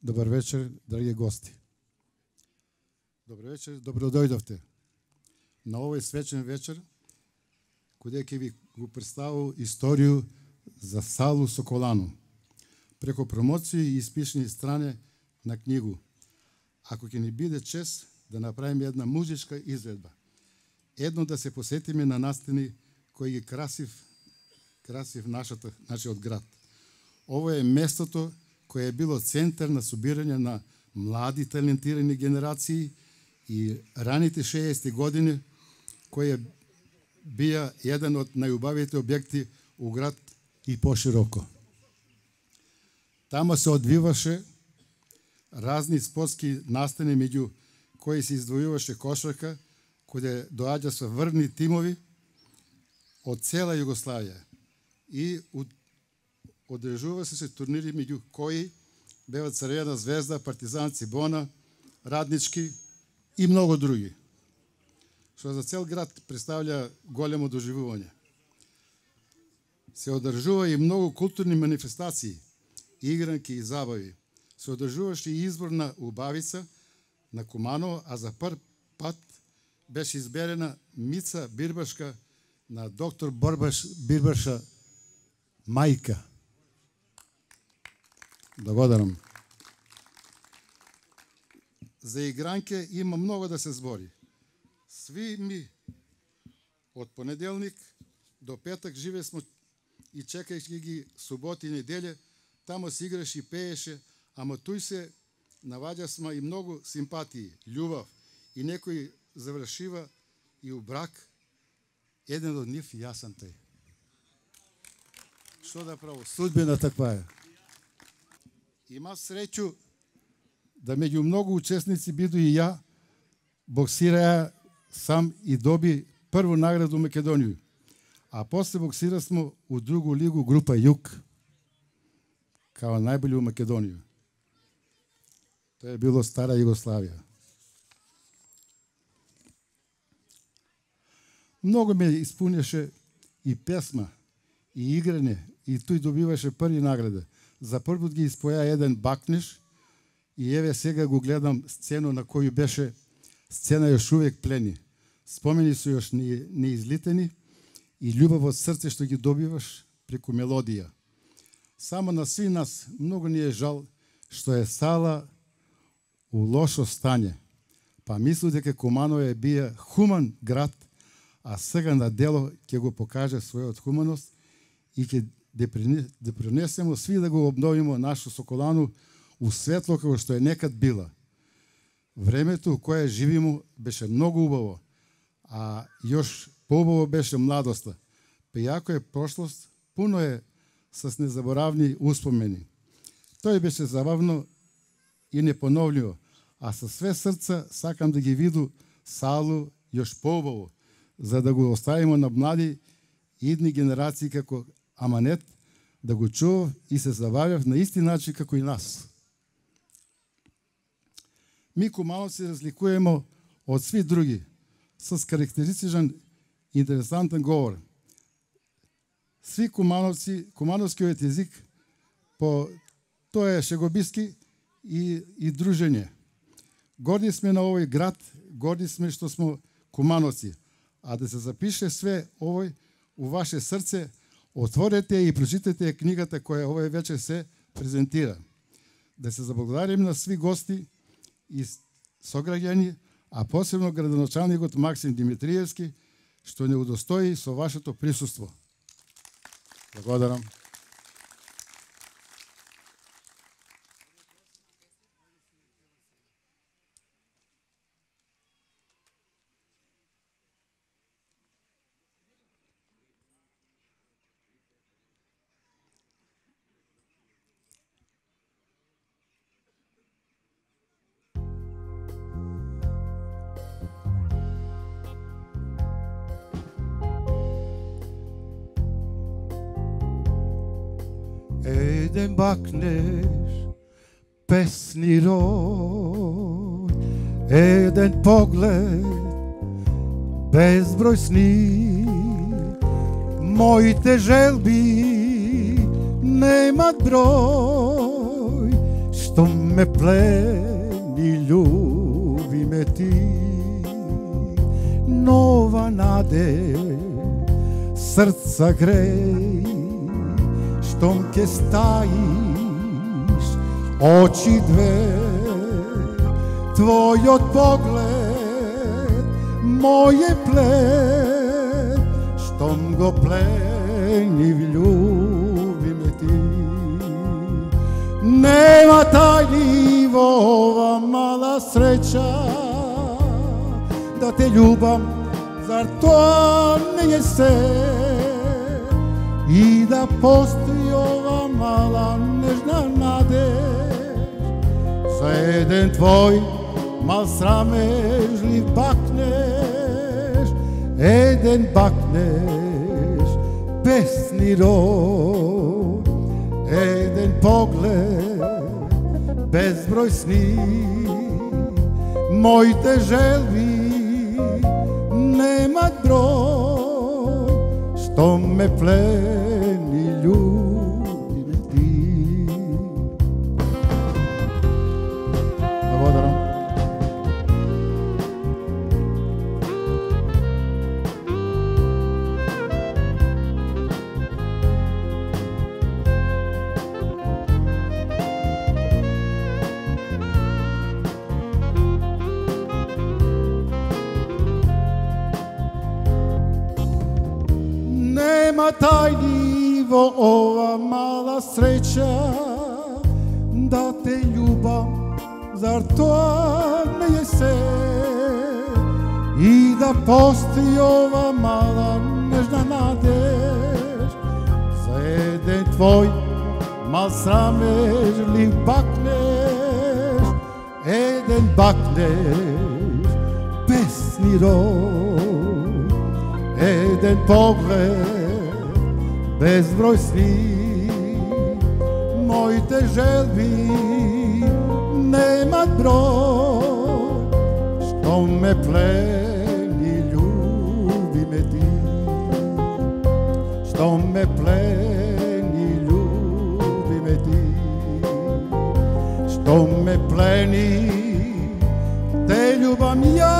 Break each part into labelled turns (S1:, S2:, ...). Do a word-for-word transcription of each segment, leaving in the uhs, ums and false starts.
S1: Добар вечер, драги гости. Добар вечер, добро дојдовте на овој свечен вечер, каде ќе ви го представам историју за Салу Соколану, преко промоција и испишни стране на книгу. Ако ќе ни биде чест да направиме една музичка изведба, едно да се посетиме на настани кој ги красив, красив нашата, нашиот град. Ово е местото кое е било центар на собирање на млади талентирани генерации и раните шеесетти години, кој бија еден од најубавите објекти у град и пошироко. Тама се одвиваше разни спортски настани, меѓу кои се издвојуваше кошарка, кој доаѓа со врвни тимови од цела Југославија и одржува се турнири меѓу кои беа Црвена звезда, Партизан, Цибона, Раднички и многу други, што за цел град представља големо доживување. Се одржува и многу културни манифестации, игранки и забави. Се одржуваше и избор на убавица на Куманово, а за прв пат беше изберена Мица Бирбашка на доктор Борбаш Бирбаша мајка. Благодарам. За игранке има многу да се збори. Сви ми од понеделник до петак живе смо и чекајќи ги суботи и неделе, тамо се играше и пееше, ама туј се наваѓа сма и многу симпатии, љубов и некој завршива и у брак. Еден од нив јас сум тој. Што да право, судбина таква е. Има среќу да меѓу многу учесници биду и ја, боксираја сам и доби прву награду Македонија. А после боксира смо у другу лигу група Југ, као најболи у Македонија. Тоа е било стара Југославија. Многу ме испуняше и песма, и играње, и тој добиваше први награда. За прв пат ги испоја еден бакниш и еве сега го гледам сцена на кој беше сцена још увек плени. Спомени се још неизлитени и љубов од срце што ги добиваш преку мелодија. Само на сви нас многу ни е жал што е Сала у лошо стање. Па мислу дека Куманово е бија хуман град, а сега на дело ќе го покаже својот хуманост и ќе да принесемо сви да го обновиме нашу Соколану у светло како што е некад била. Времето кое живимо беше многу убаво, а још поубаво беше младоста. Па иако е прошлост, пуно е с незаборавни успомени. Тој беше забавно и непоновливо, а со све срца сакам да ги виду Салу још поубаво, за да го оставиме на млади идни генерации како аманет, да го чував и се забавјав на исти начин како и нас. Ми Кумановци се разликуваме од сви други, с карактеристичен интересантен говор. Сви Кумановци, кумановскиот език, по тоа е шегобиски и, и дружење. Горди сме на овој град, горди сме што сме Кумановци, а да се запише све овој у ваше срце, отворете и прочитате книгата која овој вечер се презентира. Да се заблагодарим на сви гости и сограѓани, а посебно градоначалникот Максим Димитриевски, што не удостои со вашето присуство. Благодарам.
S2: Еден бакнеш, песни рој, еден поглед, безброј сни, моите желби немат број, што ме плени, љуби ме ти, нова наде, срца греј, штом ке стаиш, очи две, твојот поглед, моје плед, штом го пленив, љуби ме ти. Нема тајни во ова мала среќа, да те љубам, зар тоа не е се? И да постои ова мала нежна надеж за еден твој мал срамежлив бакнеш, еден бакнеш песни род, еден поглед безброј сни, моите желби немат број, што ме плени, љуби ме ти. Благодарам. Нема тајни во ова мала среќа, да те љубам, зар тоа не е се? И да постои ова мала нежна надеж за еден твој мал срамежлив бакнеш, еден бакнеш песни род, еден поглед безброј сни, моите желби немат број, што ме плени, љуби ме ти, што ме плени, љуби ме ти, што ме плени, те љубам ја.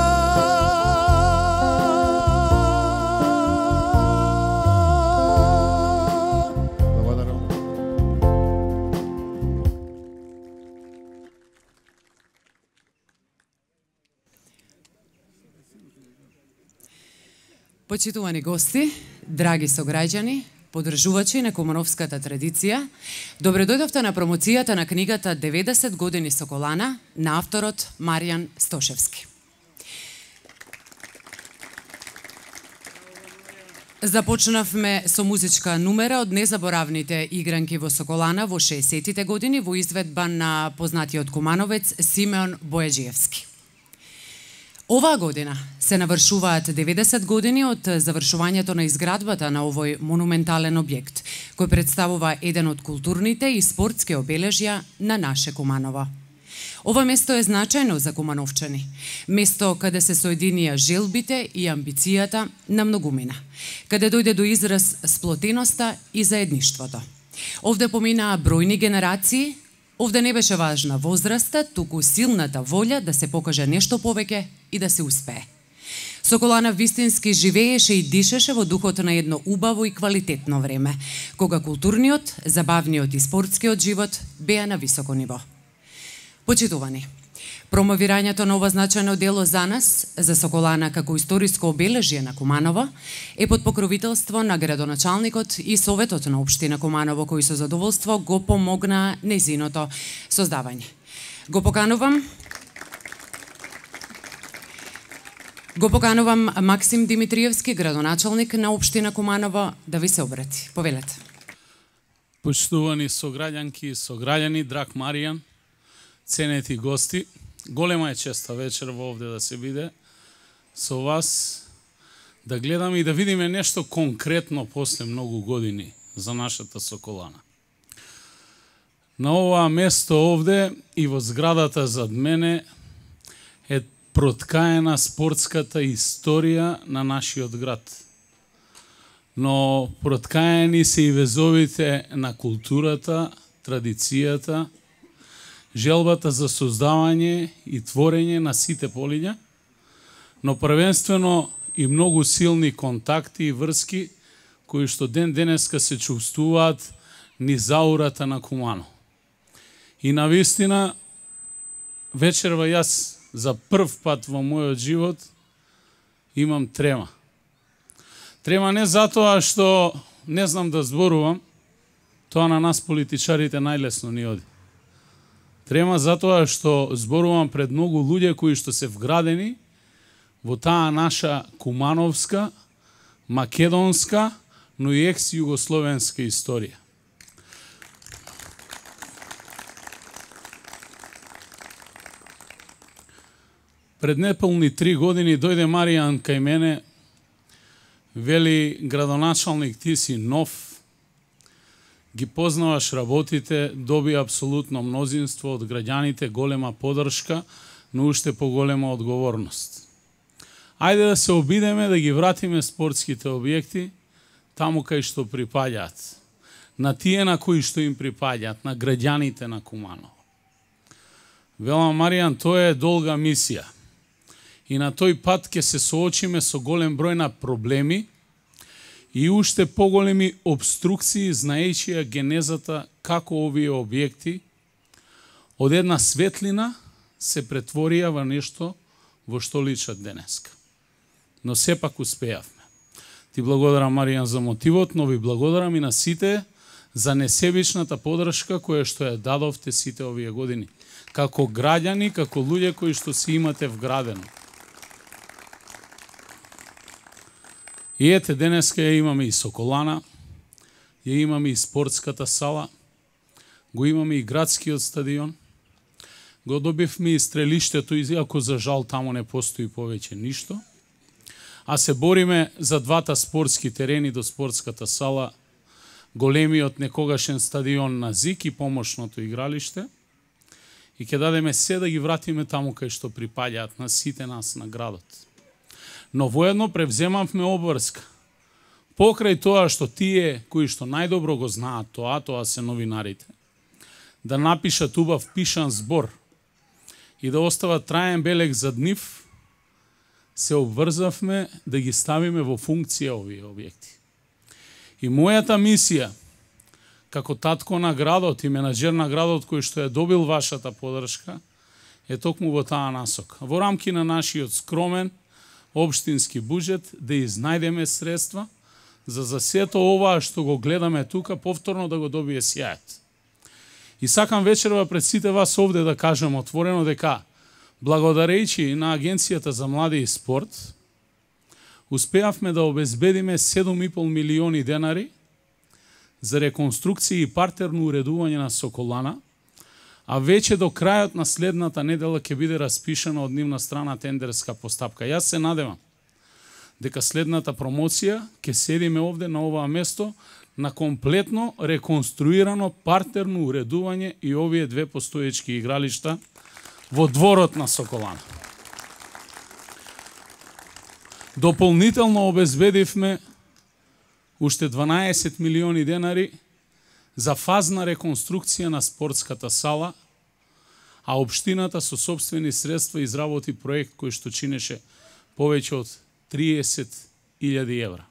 S3: Почитувани гости, драги сограѓани, поддржувачи на кумановската традиција, добре дојдовте на промоцијата на книгата деветдесет години Соколана на авторот Маријан Стошевски. Започнавме со музичка нумера од незаборавните игранки во Соколана во шеесеттите години во изведба на познатиот кумановец Симеон Бојаджиевски. Оваа година се навршуваат деветдесет години од завршувањето на изградбата на овој монументален објект, кој представува еден од културните и спортски обележја на наше Куманово. Ова место е значајно за кумановчани, место каде се соединија желбите и амбицијата на многумина, каде дојде до израз сплотеноста и заедништвото. Овде поминаа бројни генерации. Овде не беше важна возраста, туку силната волја да се покаже нешто повеќе и да се успее. Соколана вистински живееше и дишеше во духот на едно убаво и квалитетно време, кога културниот, забавниот и спортскиот живот беа на високо ниво. Почитувани, промовирањето на ова значајно дело за нас, за Соколана како историско обележје на Куманово, е под покровителство на градоначалникот и Советот на општина Куманово, кои со задоволство го помогнаа нејзиното создавање. Го поканувам Го поканувам Максим Димитриевски, градоначалник на општина Куманово, да ви се обрати. Повелете.
S4: Почитувани сограѓанки и сограѓани, драг Маријан, ценети гости, голема е честа вечер во овде да се биде со вас, да гледаме и да видиме нешто конкретно после многу години за нашата Соколана. На ова место овде и во зградата зад мене е проткаена спортската историја на нашиот град. Но проткаени се и везовите на културата, традицијата желбата за создавање и творење на сите полиња, но првенствено и многу силни контакти и врски кои што ден денеска се чувствуваат низ аурата на Кумано. И навистина, вечерва јас за прв пат во мојот живот имам трема. Трема не затоа што не знам да зборувам, тоа на нас политичарите најлесно ни оди. Трема затоа што зборувам пред многу луѓе кои што се вградени во таа наша кумановска, македонска, но и екс-југословенска историја. Пред неполни три години дојде Маријан кај мене, вели: градоначалник, ти си нов, ги познаваш работите, доби апсолутно мнозинство од граѓаните, голема поддршка, но уште поголема одговорност. Ајде да се обидеме да ги вратиме спортските објекти таму кај што припаѓаат, на тие на кои што им припаѓаат, на граѓаните на Куманово. Велам: Маријан, тоа е долга мисија. И на тој пат ќе се соочиме со голем број на проблеми и уште поголеми обструкции, знаејќи ја генезата како овие објекти од една светлина се претворија во нешто во што личат денеска. Но сепак успеавме. Ти благодарам, Маријан, за мотивот, но ви благодарам и на сите за несебичната поддршка која што ја дадовте сите овие години, како граѓани, како луѓе кои што си имате вградено. И ете, денеска ја имаме и Соколана, ја имаме и спортската сала, го имаме и градскиот стадион, го добивме и стрелиштето, иако за жал таму не постои повеќе ништо, а се бориме за двата спортски терени до спортската сала, големиот некогашен стадион на Зик и помошното игралиште, и ќе дадеме се да ги вратиме таму кај што припаѓаат на сите нас на градот. Но воедно превземавме обврска. Покрај тоа што тие кои што најдобро го знаат тоа, тоа се новинарите, да напишат убав пишан збор и да остават траен белег за нив, се обврзавме да ги ставиме во функција овие објекти. И мојата мисија, како татко на градот и менаџер на градот кој што е добил вашата поддршка, е токму во таа насока. Во рамки на нашиот скромен општински буџет да изнајдеме средства за за сето ова што го гледаме тука повторно да го добие сјајот. И сакам вечерва пред сите вас овде да кажам отворено дека благодарејќи на Агенцијата за млади и спорт успеавме да обезбедиме седум и пол милиони денари за реконструкција и партерно уредување на Соколана, а веќе до крајот на следната недела ќе биде распишана од нивна страна тендерска постапка. Јас се надевам дека следната промоција ќе седиме овде на оваа место на комплетно реконструирано партерно уредување и овие две постоечки игралишта во дворот на Соколана. Дополнително обезбедивме уште дванаесет милиони денари за фазна реконструкција на спортската сала, а општината со сопствени средства изработи проект кој што чинеше повеќе од триесет илјади евра.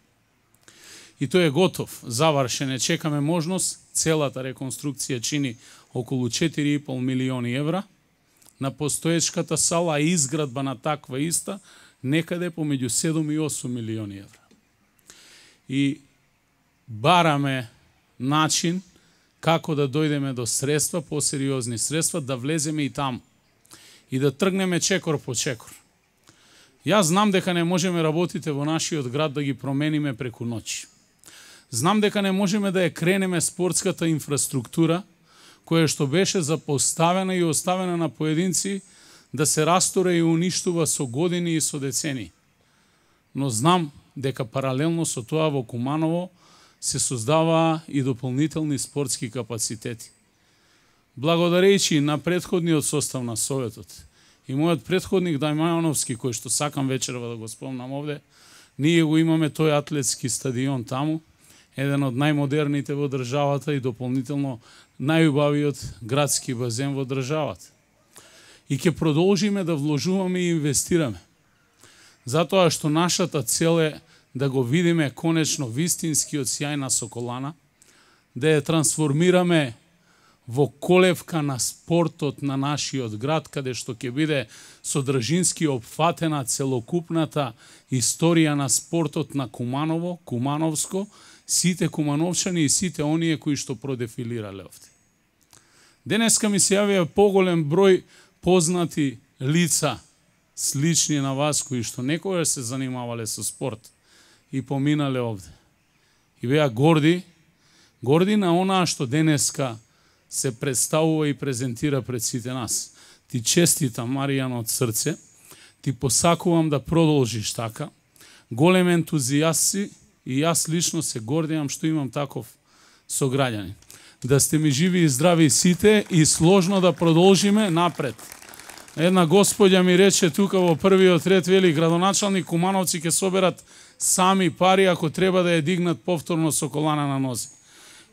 S4: И тој е готов, завршен е, чекаме можност, целата реконструкција чини околу четири и пол милиони евра, на постоечката сала и изградба на таква иста некаде помеѓу седум и осум милиони евра. И бараме начин како да дојдеме до средства, посериозни средства, да влеземе и таму и да тргнеме чекор по чекор. Јас знам дека не можеме работите во нашиот град да ги промениме преку ноќ. Знам дека не можеме да ја кренеме спортската инфраструктура, која што беше запоставена и оставена на поединци да се растура и уништува со години и со децени. Но знам дека паралелно со тоа во Куманово се создава и дополнителни спортски капацитети. Благодарејќи на предходниот состав на Советот и мојот предходник Дајмановски, кој што сакам вечерва да го спомнам овде, ние го имаме тој атлетски стадион таму еден од најмодерните во државата и дополнително најубавиот градски базен во државата. И ќе продолжиме да вложуваме и инвестираме. Затоа што нашата цел е да го видиме конечно вистинскиот сјај на Соколана, да ја трансформираме во колевка на спортот на нашиот град, каде што ќе биде содржински опфатена целокупната историја на спортот на Куманово, Кумановско, сите кумановчани и сите оние кои што продефилирале овде. Денеска ми се јавија поголем број познати лица, слични на вас, кои што некогаш се занимавале со спорт и поминале овде. И беа горди, горди на онаа што денеска се представува и презентира пред сите нас. Ти честитам, Маријан, од срце, ти посакувам да продолжиш така. Голем ентузијаст си и јас лично се гордеам што имам таков сограѓанин. Да сте ми живи и здрави сите и сложно да продолжиме напред. Една господја ми рече тука во првиот ред, вели, градоначалник Кумановци ќе соберат сами пари ако треба да ја дигнат повторно Соколана на нозе.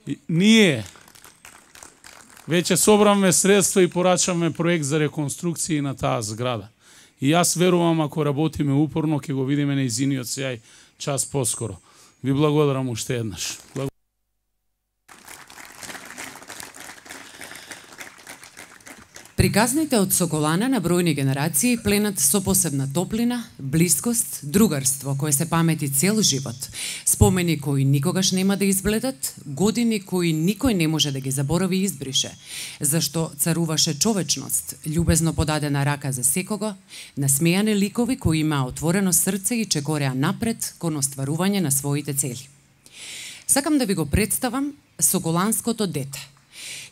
S4: И ние веќе собраме средства и порачаме проект за реконструкција на таа зграда. И јас верувам, ако работиме упорно, ќе го видиме нејзиниот сјај час поскоро. Ви благодарам уште еднаш.
S3: Приказните од Соколана на бројни генерации пленат со посебна топлина, блискост, другарство кое се памети цел живот. Спомени кои никогаш нема да избледат, години кои никој не може да ги заборави и избрише, зашто царуваше човечност, љубезно подадена рака за секого, насмејани ликови кои имаа отворено срце и чекореа напред кон остварување на своите цели. Сакам да ви го представам Соколанското дете,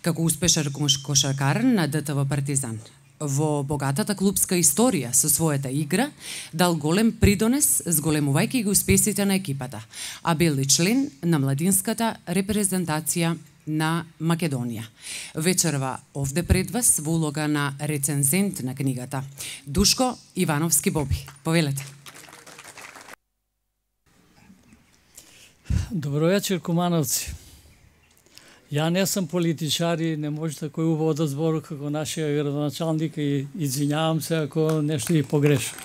S3: како успешен кошаркар на ДТВ Партизан. Во богатата клубска историја со својата игра дал голем придонес зголемувајќи ги успесите на екипата, а бил и член на младинската репрезентација на Македонија. Вечерва овде пред вас во улога на рецензент на книгата Душко Ивановски Боби. Повелете.
S5: Добро вечер, Кумановци. Ја не сум политичар и не може тако убаво да збору како нашиот градоначалник и извинјавам се ако нешто и погрешам.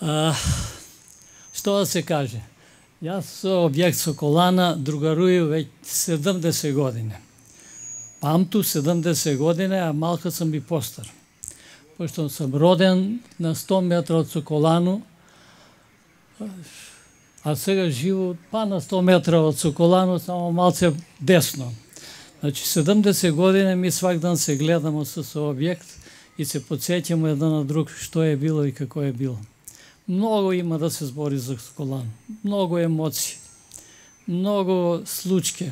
S5: А, што да се каже? Јас со објект Соколана другарую веќе седумдесет години. Памту седумдесет години, а малку сум и постар. Пошто сум роден на сто метра од Соколану, а сега живу па на сто метра од Соколану, само малце десно. Значи, седумдесет години ми свак ден се гледамо со, со објект и се подсеќаме еден на друг што е било и како е било. Многу има да се збори за Соколан. Многу емоции. Многу случаи.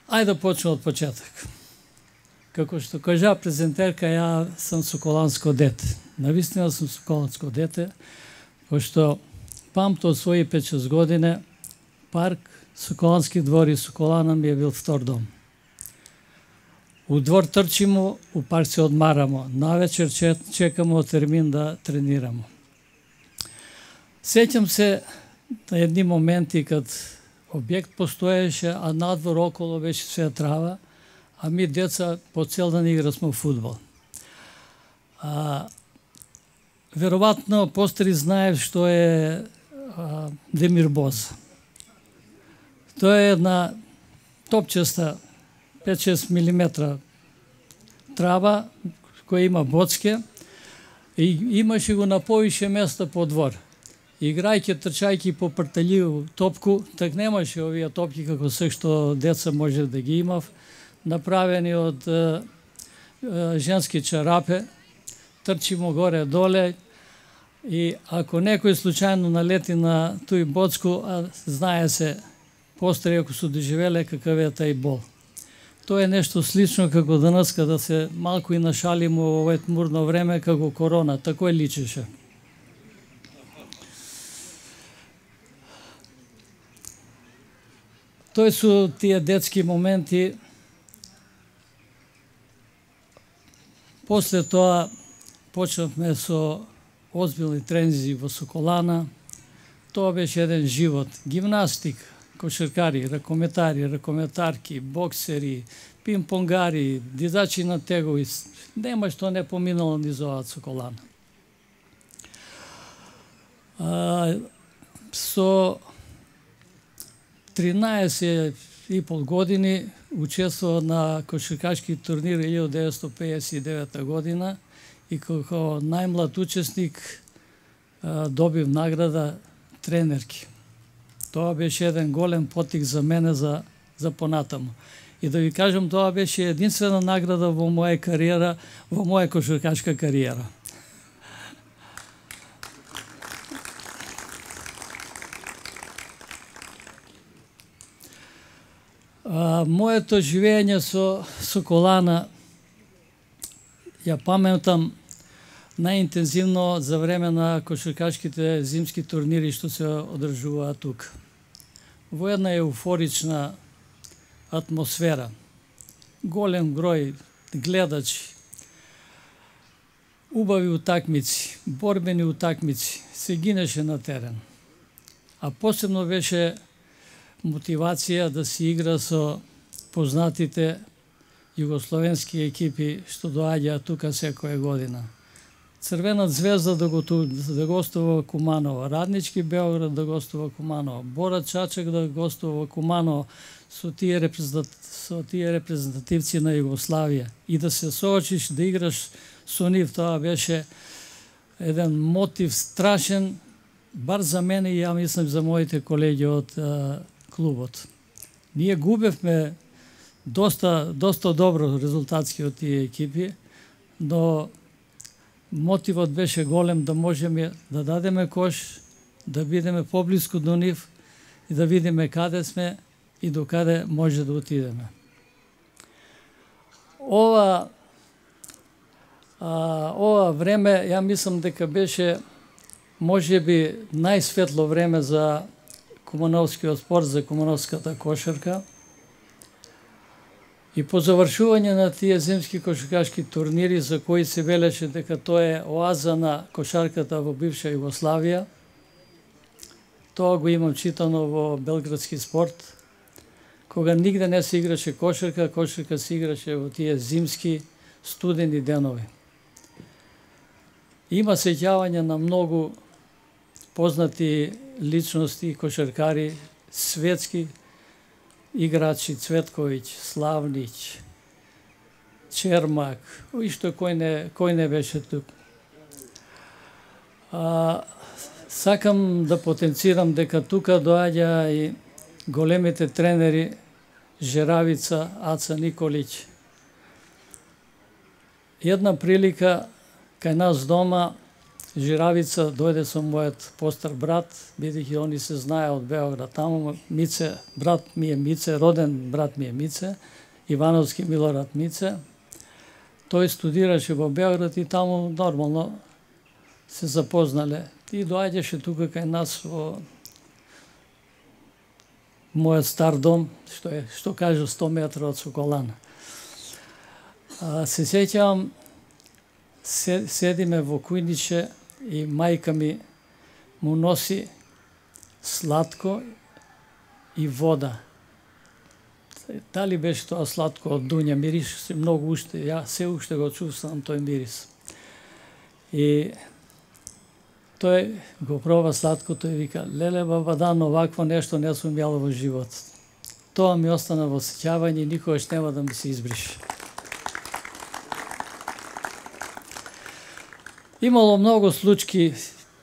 S5: Ајде да почнем од почеток. Како што кажа презентерка, ја сум соколанско дете. Навистина сум соколанско дете, пошто памто од своји пет-шест години, парк, Соколански двор и Соколана ми е бил втор дом. У двор трчимо, у парк се одмарамо, навечер чекамо термин да тренирамо. Сеќам се на едни моменти кад објект постоеше, а надвор около беше све трава, а ми деца по цел ден играсмо фудбал. А, веројатно постари знаев што е а, Демир Боз. Тоа е една топчеста пет-шест милиметра трава која има боцке и имаше го на повише места по двор. Играјќи, трчајќи по пртеливу топку, так немаше овие топки како се што деца може да ги имав, направени од е, е, женски чарапе, трчимо горе-доле и ако некој случајно налети на тој боцку, а знае се постари ако се доживеле какав е тај бол. Тоа е нешто слично како денес, када се малку и нашалимо во овој тмурно време како корона, тако е личеше. Тој со тие детски моменти. После тоа почнавме со озбилни тренинзи во Соколана, Тоа беше еден живот. Гимнастик, кошаркари, ракометари, ракометарки, боксери, пинг-понгари, дизачи на тегови. Нема што не поминало низ оваа Соколана. А, со тринаесет и пол години учествува на кошаркашки турнир илјада деветстотини пеесет и девета година и како најмлад учесник а, добив награда тренерки. Тоа беше еден голем потик за мене за, за понатаму. И да ви кажам, тоа беше единствена награда во моја кариера, во моја кошаркашка кариера. А, моето живење со Соколана ја паметам најинтензивно за време на кошаркашките зимски турнири што се одржуваат тука. Во една еуфорична атмосфера, голем број гледачи, убави утакмици, борбени утакмици, се гинеше на терен. А посебно беше мотивација да се игра со познатите југословенски екипи што доаѓаат тука секоја година. Црвена звезда да, го, да гостува Куманово, Раднички Београд да гостува Куманово, Бора Чачак да гостува Куманово со тие, репрезентат, со тие репрезентативци на Југославија и да се соочиш, да играш со нив, тоа беше еден мотив страшен, бар за мене и ја мислам за моите колеги од а, клубот. Ние губевме доста, доста добро резултатски од тие екипи, но мотивот беше голем да можеме да дадеме кош, да бидеме поблиску до нив и да видиме каде сме и до каде може да отидеме. Ова а, ова време, ја мислам дека беше можеби најсветло време за кумановскиот спорт, за кумановската кошарка. И по завршување на тие зимски кошаркашки турнири, за кои се велеше дека тоа е оаза на кошарката во бивша Југославија, тоа го имам читано во Белградски спорт, кога нигде не се играше кошарка, кошарка се играше во тие зимски студени денови. Има сеќавање на многу познати личности, кошаркари, светски играчи, Цветковиќ, Славнич, Чермак, и што кој не, кој не беше тук. А, сакам да потенцирам дека тука доаѓа и големите тренери Жеравица, Аца Николиќ. Една прилика кај нас дома Жиравица дојде со мојот постар брат, бидејќи они се знае од Београд. Таму Мице, брат ми е Мице, роден брат ми е Мице, Ивановски Милорад Мице. Тој студираше во Београд и таму нормално се запознале. И доаѓаше тука кај нас во мојот стар дом, што е, што кажу, сто метра од Соколана. А, се сеќавам, седиме во кујниче и мајка ми му носи сладко и вода. Дали беше тоа сладко од дуња, мирише многу уште, ја се уште го чувствувам тој мирис. И тој го проба сладкото и вика: леле бабадан, овакво нешто не сум јал во живот. Тоа ми остана во сеќавање и никогаш нема да ми се избрише. Имало многу случаи,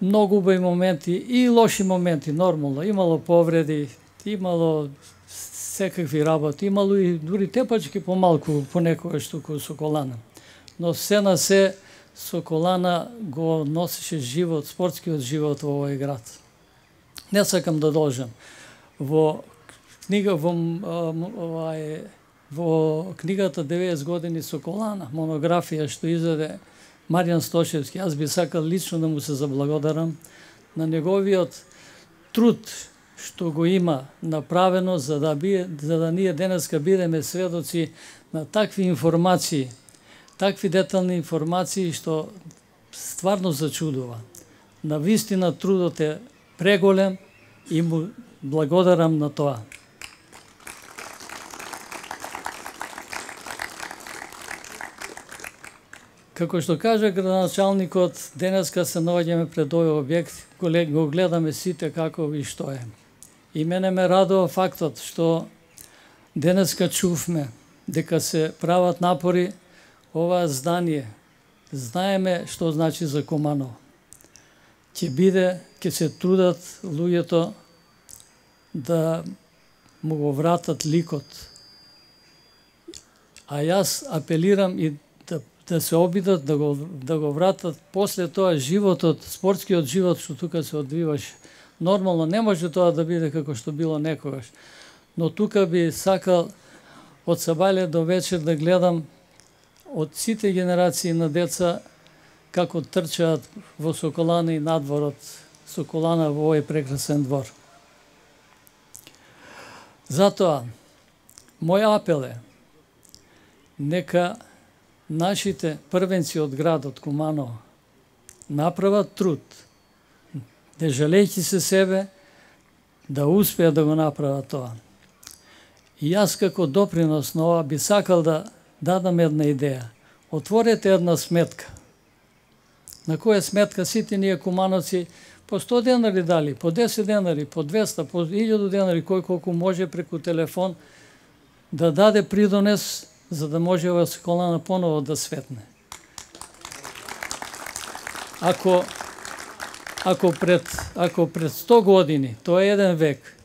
S5: многу убави моменти и лоши моменти, нормално. Имало повреди, имало секакви работи, имало и дури тепачки помалку понекогаш туку Соколана. Но се на се Соколана го носеше живот, спортскиот живот во овој град. Не сакам да должам. Во книга во овај во книгата деветдесет години Соколана, монографија што издаде Маријан Стошевски, аз би сакал лично да му се заблагодарам на неговиот труд што го има направено за да би, за да ние денеска бидеме сведоци на такви информации, такви детални информации што стварно зачудува. На вистина трудот е преголем и му благодарам на тоа. Како што кажа градоначалникот, денеска се наоѓаме пред овој објект, го гледаме сите како и што е. И мене ме радува фактот што денеска чувме дека се прават напори ова здание. Знаеме што значи за Куманово. Ќе биде, ќе се трудат луѓето да му го вратат ликот. А јас апелирам и да, да се обидат да го, да го вратат после тоа животот, спортскиот живот што тука се одвиваше. Нормално не може тоа да биде како што било некогаш. Но тука би сакал од сабајле до вечер да гледам од сите генерации на деца како трчаат во Соколана и надворот Соколана во овој прекрасен двор. Затоа, мој апел е нека нашите првенци од градот Куманово направат труд, не жалејќи се себе, да успеат да го направат тоа. И јас како допринос на ова би сакал да дадам една идеја. Отворете една сметка. На која сметка сите ние кумановци по сто денари дали, по десет денари, по двеста, по илјаду денари, кој колку може преку телефон да даде придонес за да може ова Соколана поново да светне. Ако ако пред ако пред сто години, тоа е еден век,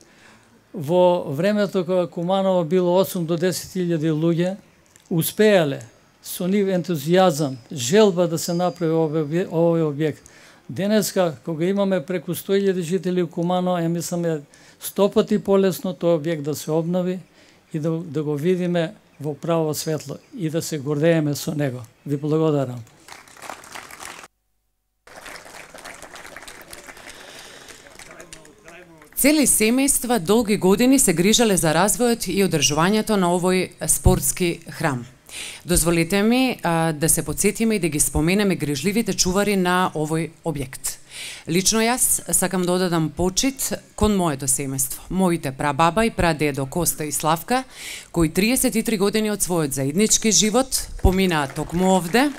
S5: во времето кога Куманово било осум до десет илјади луѓе, успеале со нив ентузијазам, желба да се направи овој објект. Денеска, кога имаме преку сто илјади жители у Куманово, ја мислам е сто пати полесно тој објект да се обнови и да, да го видиме во право светло и да се гордееме со него. Ви благодарам.
S3: Цели семејства долги години се грижале за развојот и одржувањето на овој спортски храм. Дозволете ми а, да се подсетиме и да ги споменеме грижливите чувари на овој објект. Лично јас сакам да одадам почит кон моето семејство, моите прабаба и прадедо Коста и Славка, кои триесет и три години од својот заеднички живот поминаа токму овде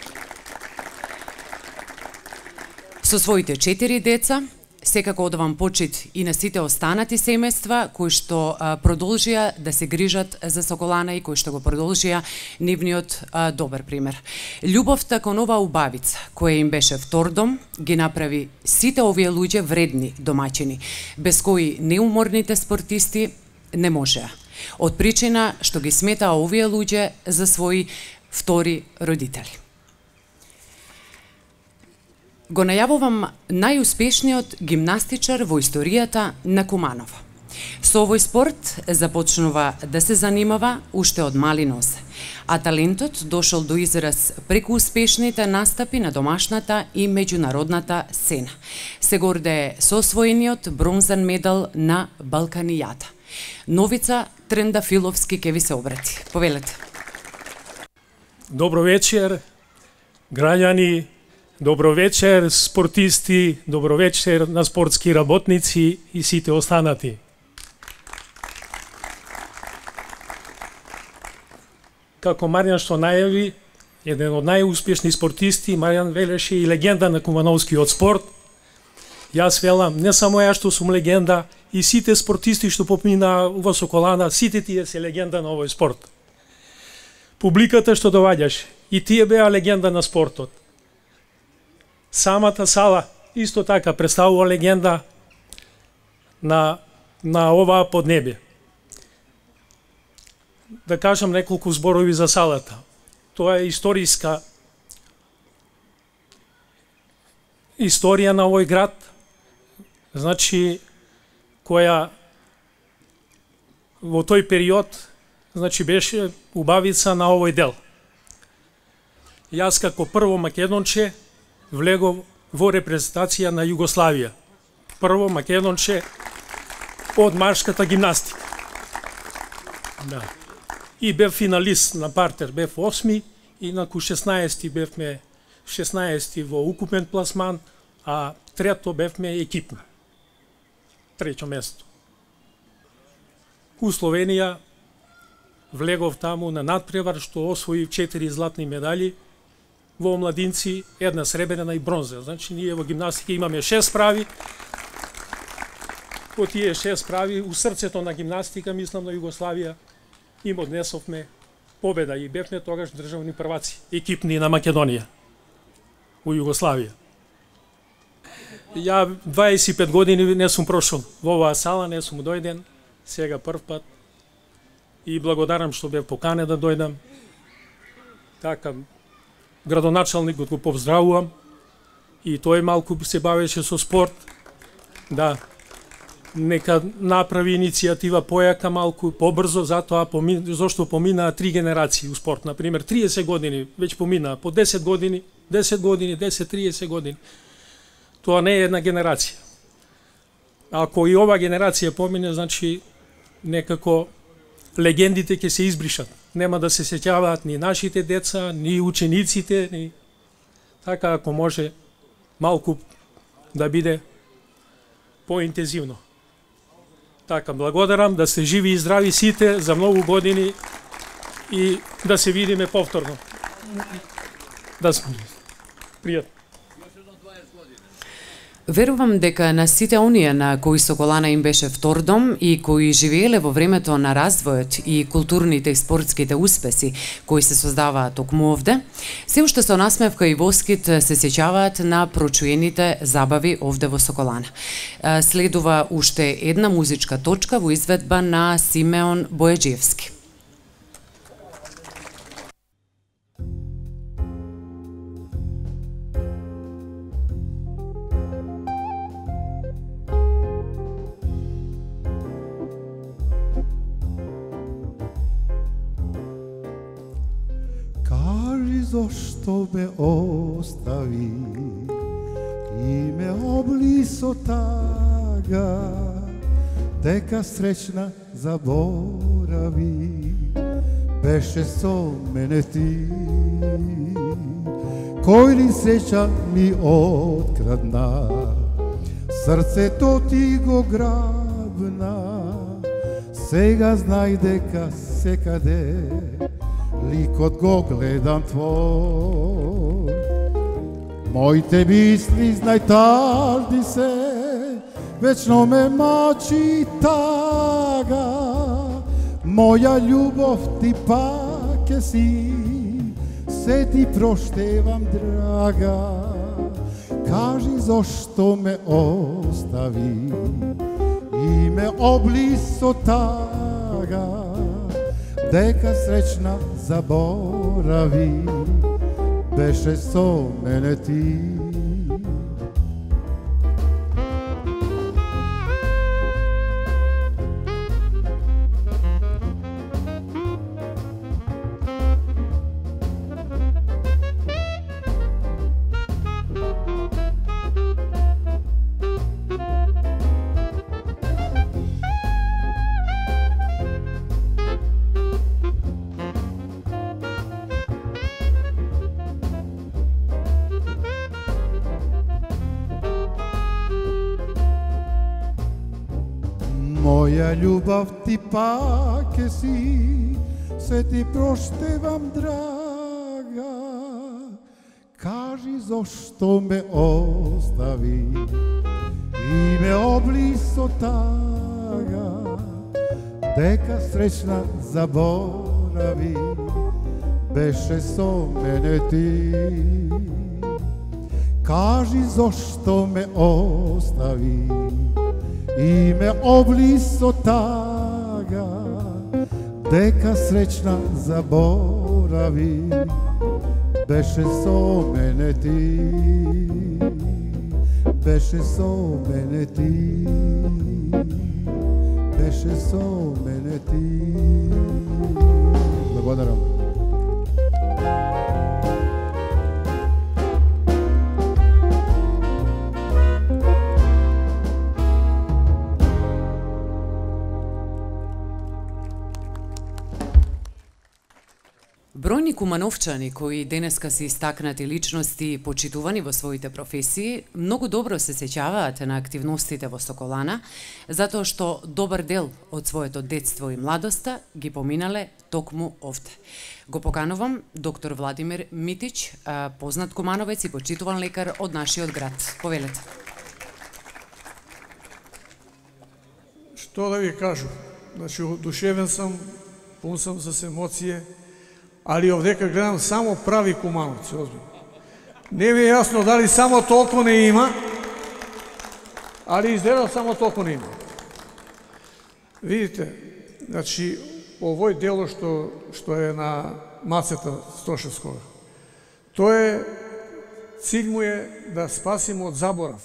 S3: со своите четири деца. Секако одавам почит и на сите останати семејства кои што а, продолжија да се грижат за Соколана и кои што го продолжија нивниот а, добар пример. Љубовта кон оваа убавица, која им беше втор дом, ги направи сите овие луѓе вредни домаќини, без кои неуморните спортисти не можеа. Од причина што ги сметаа овие луѓе за своји втори родители. Го најавувам најуспешниот гимнастичар во историјата на Куманово. Со овој спорт започнува да се занимава уште од мали нозе, а талентот дошол до израз преку успешните настапи на домашната и меѓународната сцена. Се гордее со освоениот бронзан медал на Балканијата. Новица Трендафиловски ќе ви се обрати. Повелете.
S6: Добро вечер, граѓани. Добро вечер, спортисти, добро вечер на спортски работници и сите останати. Како Маријан што најави, еден од најуспешни спортисти, Маријан велеше и легенда на кумановскиот спорт. Јас велам, не само ја што сум легенда, и сите спортисти што попмина во Соколана, сите тие се легенда на овој спорт. Публиката што доваѓаше, и тие беа легенда на спортот. Самата сала исто така представува легенда на, на оваа поднебе. Да кажам неколку зборови за салата. Тоа е историска историја на овој град, значи која во тој период значи беше убавица на овој дел. Јас како прво македонче влегов во репрезентација на Југославија. Прво македонче од маршката гимнастика. Да. И бев финалист на партер, бев осми и на шеснаести бевме шеснаести во укупен пласман, а трето бевме екипно. трето место. У Словенија влегов таму на надпревар што освои четири златни медали, во омладинци една сребрена и бронза. Значи ние во гимнастика имаме шест прави. По тие шест прави у срцето на гимнастика, мислам на Југославија, им однесовме победа и бевме тогаш државни прваци, екипни на Македонија у Југославија. Ја дваесет и пет години не сум прошол во оваа сала, не сум дојден, сега прв пат и благодарам што бев поканен да дојдам. Така, градоначалникот го поздравувам и тој малку се бавеше со спорт. Да, нека направи иницијатива појака малку, побрзо, затоа помин, зашто поминаа три генерации у спорт. Например, триесет години веќе поминаа, по десет години, десет години, десет триесет години. Тоа не е една генерација. Ако и ова генерација помине, значи некако легендите ќе се избришат. Нема да се сеќаваат ни нашите деца, ни учениците, ни... Така, ако може, малку да биде поинтензивно. Така, благодарам, да сте живи и здрави сите за многу години и да се видиме повторно. Да сме пријатно.
S3: Верувам дека на сите оние на кои Соколана им беше втор дом и кои живееле во времето на развојот и културните и спортските успеси кои се создаваат токму овде, се уште со насмевка и воскит се сеќаваат на прочуените забави овде во Соколана. Следува уште една музичка точка во изведба на Симеон Бојаджиевски.
S2: Зошто ме остави и ме обли со тага, дека среќна заборави, беше со мене ти. Кој ли среќа ми открадна, срцето ти го грабна, сега знај дека секаде ликот го гледам твој. Моите мисли, знај, тарди се, вечно ме мачи тага. Моја љубов ти пак е си, се ти проштевам, драга. Кажи зошто ме остави и ме обли со тага, дека среќна заборави, беше со мене ти. Моја љубов ти пак е си, се ти проштевам, драга. Кажи зошто ме остави и ме обли со тага, дека среќна заборави, беше со мене ти. Кажи зошто ме остави и ме обли со тага, дека среќна заборави, беше со мене ти, беше со мене ти, беше со мене ти. Благодарам.
S3: Бројни кумановчани кои денеска се истакнати личности, почитувани во своите професии, многу добро се сеќаваат на активностите во Соколана, затоа што добар дел од своето детство и младоста ги поминале токму овде. Го поканувам доктор Владимир Митич, познат кумановец и почитуван лекар од нашиот град. Повелете.
S7: Што да ви кажу? Значи, одушевен сум, пун сум с емоcije, ali овдека гледам само прави кумановци, озбилно. Не ми е јасно дали само толку не има, али изгледа само толку не има. Видите, значи, овој дело што, што е на мацета Стошевскога, тоа е, cilj му е да спасимо од заборав.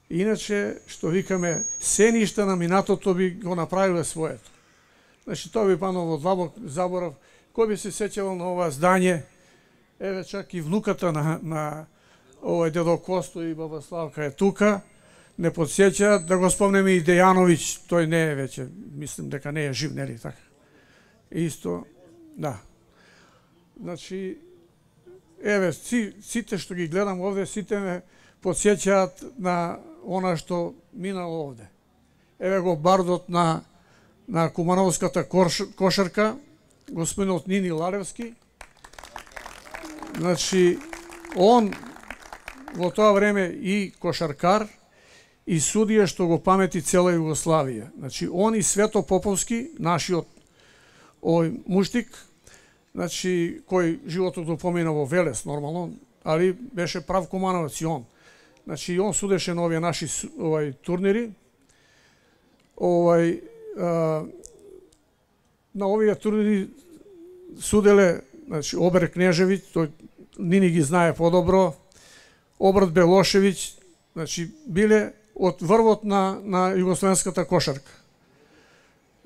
S7: Иначе, што викаме, се ништа на минатото би го направиле своето. Значи, тоа би пано во заборав. Кој би се сеќавал на ова здање? Еве, чак и внуката на, на овој дедо Косто и баба Славка е тука. Не подсеќаат, да го спомнеме и Дејановиќ, тој не е веќе, мислим дека не е жив, нели така? Исто, да. Значи, еве, си, сите што ги гледам овде, сите ме подсеќаат на она што минало овде. Еве го бардот на, на кумановската кош, кошарка, господинот Нини Ларевски. Значи, он во тоа време и кошаркар, и судија што го памети цела Југославија. Значи, он и Свето Поповски, нашиот овој муштик, значи, кој животот го помина во Велес, нормално, али беше прав кумановец и он. Значи, он судеше на овие наши овај турнири. Овај, а, на овие турнири суделе, значи, Обер Кнежевиќ, тој Нини ги знае подобро, Обрат Белошевиќ, значи, биле од врвот на, на југословенската кошарка.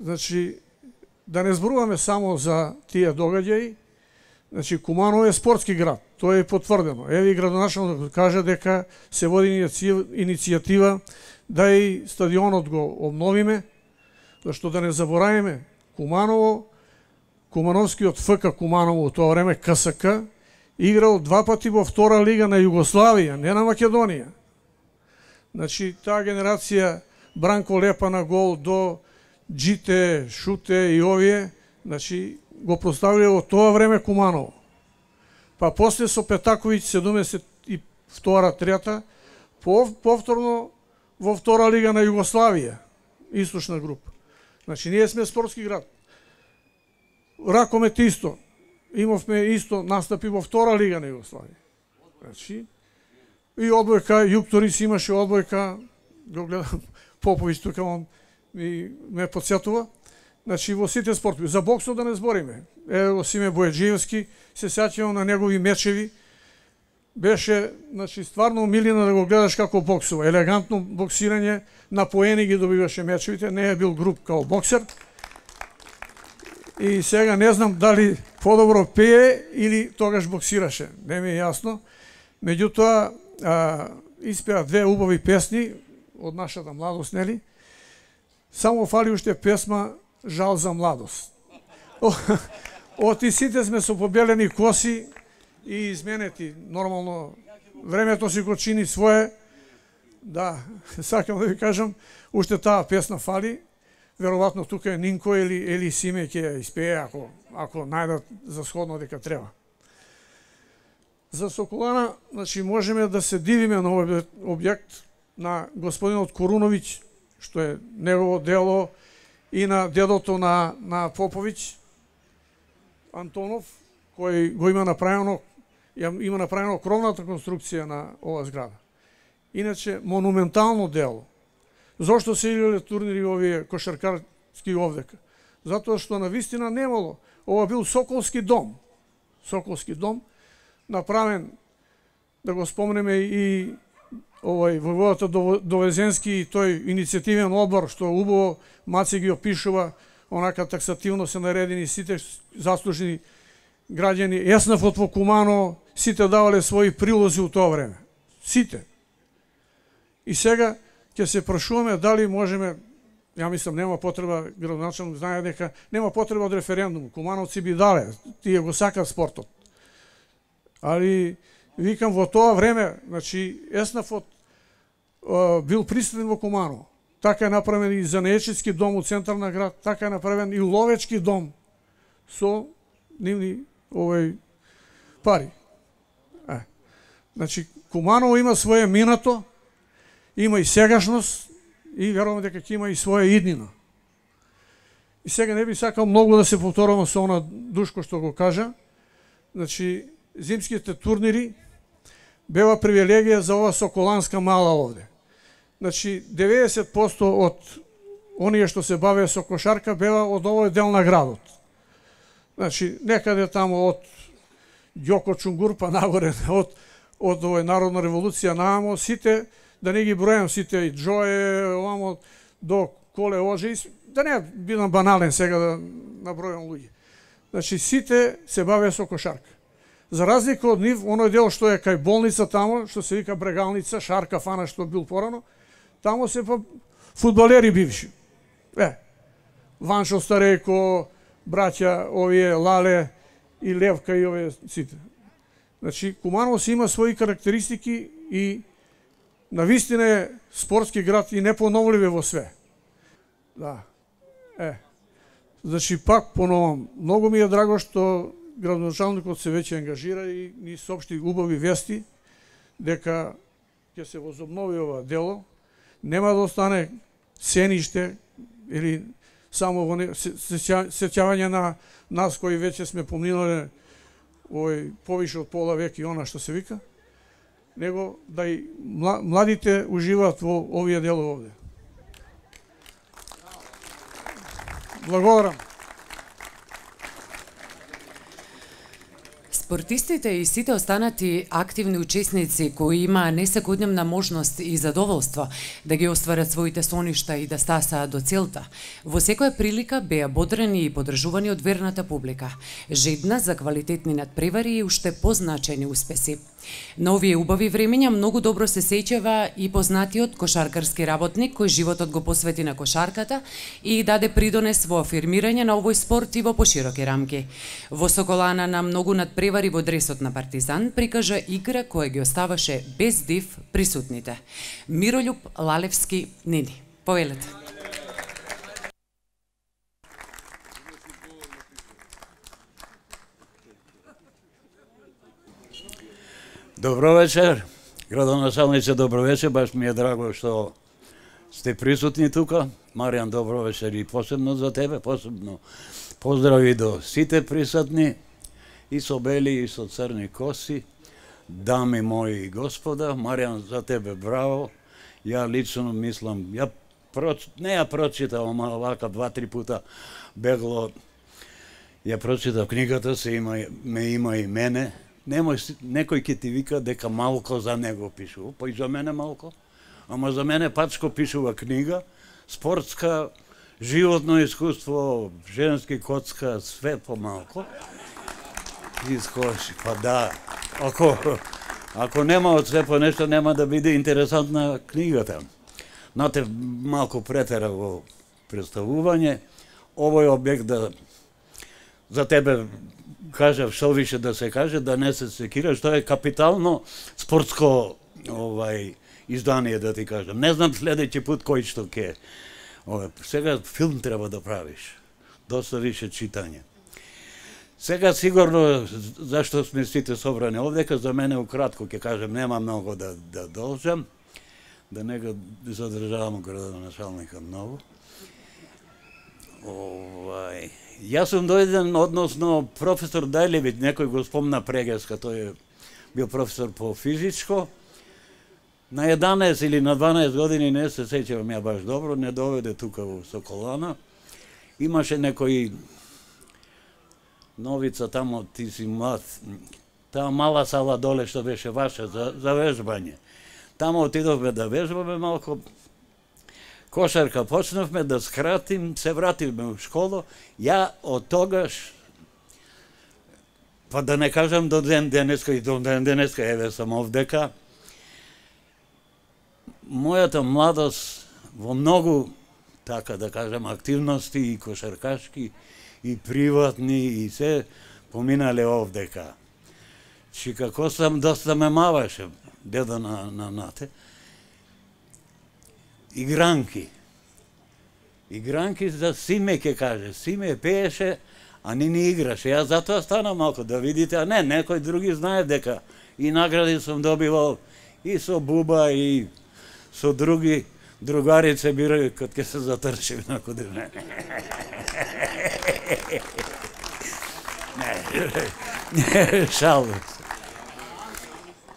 S7: Значи, да не зборуваме само за тие догаѓаи, значи, Куманово е спортски град, тоа е потврдено. Еви градоначалникот каже дека се води иницијатива да и стадионот го обновиме, зашто да не заборавиме Куманово, Кумановскиот ФК Куманово, тоа време КСК, играл два пати во втора лига на Југославија, не на Македонија. Значи, таа генерација Бранко Лепа на гол до Джите, Шуте и овие, значи, го проставиле во тоа време Куманово. Па после со Петаковиќ седумдесет и втора трета, повторно во втора лига на Југославија, источна група. Значи, ние сме спортски град. Ракомет исто. Имавме исто настапи во втора лига на Југославија. Значи, и одбојка, Јукторис имаше одбојка, го гледам Поповиќ тука, он ми ме подсетува. Значи, во сите спортови. За боксот да не збориме. Е, во Симе Бојаджиевски, се сеќавам на негови мечеви. Беше, значи, стварно милина да го гледаш како боксува. Елегантно боксирање, на поени ги добиваше мечевите, не е бил груб као боксер. И сега не знам дали подобро пее или тогаш боксираше. Не ми е јасно. Меѓутоа, а, испеа две убави песни од нашата младост, нели? Само фали уште песма Жал за младост. Од и сите сме со побелени коси и изменети. Нормално, времето си го чини свое. Да, сакам да ви кажам, уште таа песна фали. Веројатно тука е Нинко или, или Симе ќе ја испее, ако, ако најдат за сходно дека треба. За Соколана, значи, можеме да се дивиме на овој објект на господинот Коруновиќ, што е негово дело, и на дедото на, на Поповиќ, Антонов, кој го има направено, има направено кровната конструкција на ова зграда. Иначе, монументално дело. Зошто се играле турнири овие кошаркарски овдека? Затоа што на вистина немало. Ова бил Соколски дом. Соколски дом, направен, да го спомнеме и овој војводата Довезенски и тој иницијативен одбор, што убаво Маци ги опишува, онака таксативно се наредени сите заслужени граѓани. Еснавот во Куманово, сите давале своји прилози у тоа време. Сите. И сега ќе се прашуваме дали можеме Ја мислам, нема потреба, градоначалник знае дека нема потреба од референдум. Кумановци би дале, тие го сакат спортот. Али, викам, во тоа време, значи, Еснафот бил присутен во Куманово. Така е направен и занаечитски дом у центарна град, така е направен и ловечки дом со нивни овој пари. Е. Значи, Куманово има своје минато, има и сегашност и верувам дека ќе има и своја иднина. И сега не би сакал многу да се повторувам со она Душко што го кажа. Значи, зимските турнири бева привилегија за ова соколанска мала овде. Значи, деветдесет проценти од оние што се бавеа со кошарка беа од овој дел на градот. Значи, некаде тамо од Ѓоко Чунгур па нагоре, од, од овој Народна револуција наамо, сите, да не ги бројам сите, и Джое, овамо, до Коле Оже, да не бидам банален сега да набројам луѓе. Значи, сите се бавеа со кошарка. За разлика од нив, оној дел што е кај болница тамо, што се вика Брегалница, Шарка Фана што бил порано, тамо се па фудбалери бивши. Е, Ваншо Старејко, браќа овие Лале и Левка и овие сите. Значи, Куманово си има своји карактеристики и навистина е спортски град и непоновливе во све. Да. Е. Значи, пак поновам, многу ми е драго што градоначалникот се веќе ангажира и ни соопшти убави вести дека ќе се возобнови ова дело. Нема да остане сениште или само во сеќавање на нас кои веќе сме поминале овој повише од пола век и она што се вика, него да и младите уживаат во овие дело овде. Благодарам.
S3: Спортистите и сите останати активни учесници кои има несекојдневна можност и задоволство да ги остварат своите соништа и да стасаат до целта, во секоја прилика беа бодрени и поддржувани од верната публика, жедна за квалитетни надпревари и уште позначени успеси. На овие убави времења многу добро се сеќава и познатиот кошаркарски работник кој животот го посвети на кошарката и даде придонес во афирмирање на овој спорт и во пошироки рамки. Во Соколана на многу надпревари во дресот на Партизан прикажа игра која ги оставаше без див присутните. Миролјуб Лалевски, Нини. Повелете.
S8: Добро вечер, градоначалниче, добро вечер, баш ми е драго што сте присутни тука. Маријан, добро вечер и посебно за тебе, посебно поздрави до сите присутни, и со бели и со црни коси, дами мои и господа. Маријан, за тебе браво. Ја лично мислам, ја проч... не ја прочитав, ама вака два-три пута бегло ја прочитав книгата, се има, ме има и мене. Немој, некој ќе ти вика дека малко за него пишува, па и за мене малко, ама за мене пачко пишува книга, спортска, животно искуство, женски коцка, све помалко. Искоши, па да, ако, ако нема од све по нешто, нема да биде интересантна книгата. Нате малко претера во представување, овој објект да за тебе кажав што више да се каже, да не се секира, што е капитално спортско овај издание, да ти кажам. Не знам следеќи пат кој што ќе. Сега филм треба да правиш. Доста више читање. Сега сигурно зашто сме сите собрани овдека, за мене укратко ќе кажам, нема многу да да должам, да не го задржавам градоначалника многу. Овај Јас сум дојден, односно професор Дајлевиќ, некој го спомна Прегеска, тој е бил професор по физичко. На еднаесет или на дванаесет години, не се сеќавам ја баш добро, не доведе тука во Соколана. Имаше некој Новица тамо, ти си млад, таа мала сала доле што беше ваша за, за вежбање. Тамо отидовме да вежбаме малко, кошарка почнавме да скратим, се вративме у школу. Ја од тогаш, па да не кажам до ден денеска и до ден денеска, еве сам овдека, мојата младост во многу така да кажам, активности и кошаркашки, и приватни, и се поминале овдека. Чи како сам доста ме маваше, дедо на, на нате, игранки. Игранки за Симе ке каже. Симе пееше, а ни не играше. Јас затоа стана малко да видите, а не, некој други знае дека и награди сум добивал и со Буба, и со други другарице бирај кога ќе се затрчив на куди мене. Не, шалбам се.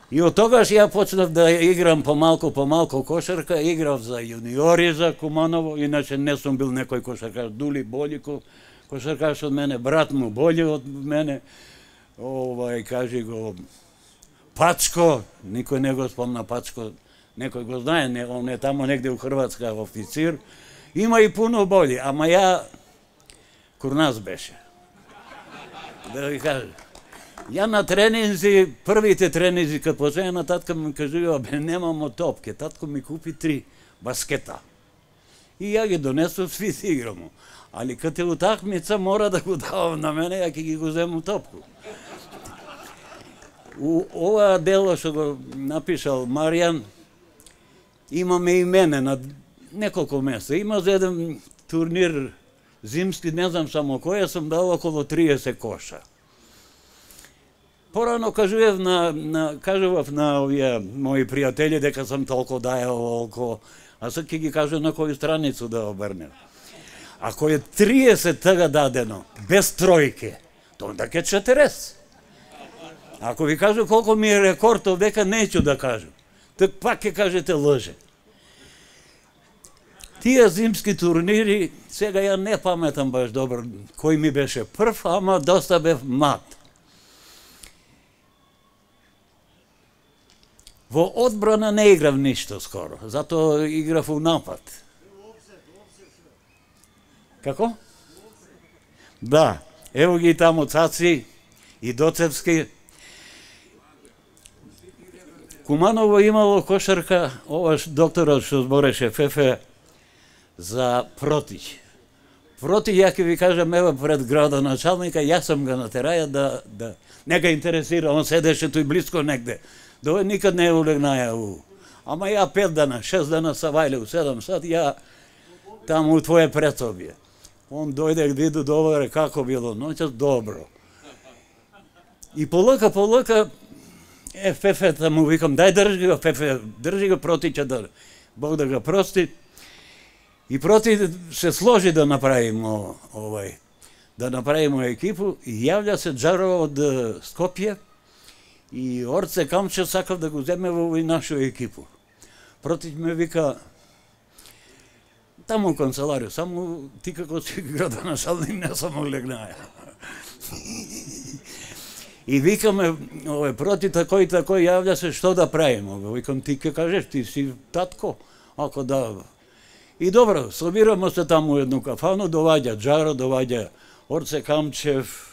S8: И од тогаш ја почнав да играм помалку, помалку кошарка, играв за јуниори за Куманово, иначе не сум бил некој кошаркаш, Дули Болико, кошаркаш од мене, брат му бољи од мене, овај, кажи го, Пачко, никој не го спомна Пачко, некој го знае, не, он е тамо негде у Хрватска официр, има и пуно бољи, ама ја, курнас беше. Да ви кажа. Ја на тренинзи, првите тренинзи, кад почнеја, татка ми кажува, бе, немамо топке, татко ми купи три баскета. И ја ги донесов, сви си играмо. Али кад е утакмица, мора да го давам на мене, ја ќе ги го зему топку. У ова дело што го напишал Маријан, имаме и мене на неколку места. Има за еден турнир зимски, не знам само кој, сум дал околу триесет коша. Порано кажував на, на, кажував на овие мои пријатели дека сам толку дајал волко, а сега ќе ги кажу на коju страницу да обрнем. Ако е триесет тага дадено, без тројке, то онда ке четириесет. Ако ви кажу колку ми е рекорд овдека, неću да кажу. Так пак ќе кажете лъже. Тие зимски турнири, сега ја не паметам баш добро кој ми беше прв, ама доста бев млад. Во одбрана не играв ништо скоро, затоа играв у напад. Како? Да, ево ги таму Цаци и Доцевски. Куманово имало кошарка, оваш докторот што збореше Фефе за Протиќ. Протиќ, ја ќе ви кажам, ево пред градоначалника, јас сам ga натераја да, да не га интересира, он седеше тој близко негде. Дој никад не улегнаја у. Ама ја пет дана, шест дана са вајле у седам сат, ја таму у твое предсобје. Он дојде виду доваре како било ноќас, добро. И полека, полека, е, Фефе таму викам, дај држи го, Фефе, држи го Протиќа да Бог да го прости. И Проти се сложи да направимо овај, да направимо екипу и јавља се Джаро од Скопје и Орце Камче сакав да го земе во овој нашу екипу. Протиќ ме вика, таму канцеларија, само ти како си градоначалник не само легнаја. И викаме, овој Проти такој и такој, јавља се што да правиме. Викам, ти ке кажеш, ти си татко, ако да. И добро, собирамо се таму едну кафану, доваѓа Джаро, доваѓа Орце Камчев,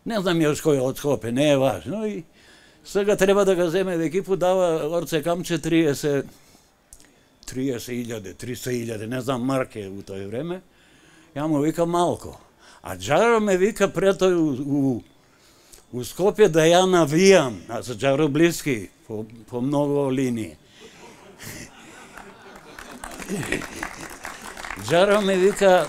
S8: не знам још кој од Скопје, не е важно. И сега треба да го земе екипу, дава Орце Камче триесет илјаде, триста илјаде, не знам марке у тој време. Ја му вика малко. А Джаро ме вика пред тој у, у, у Скопје да ја навијам, а за Джаро блиски, по, по многу линии. Джаро ме вика,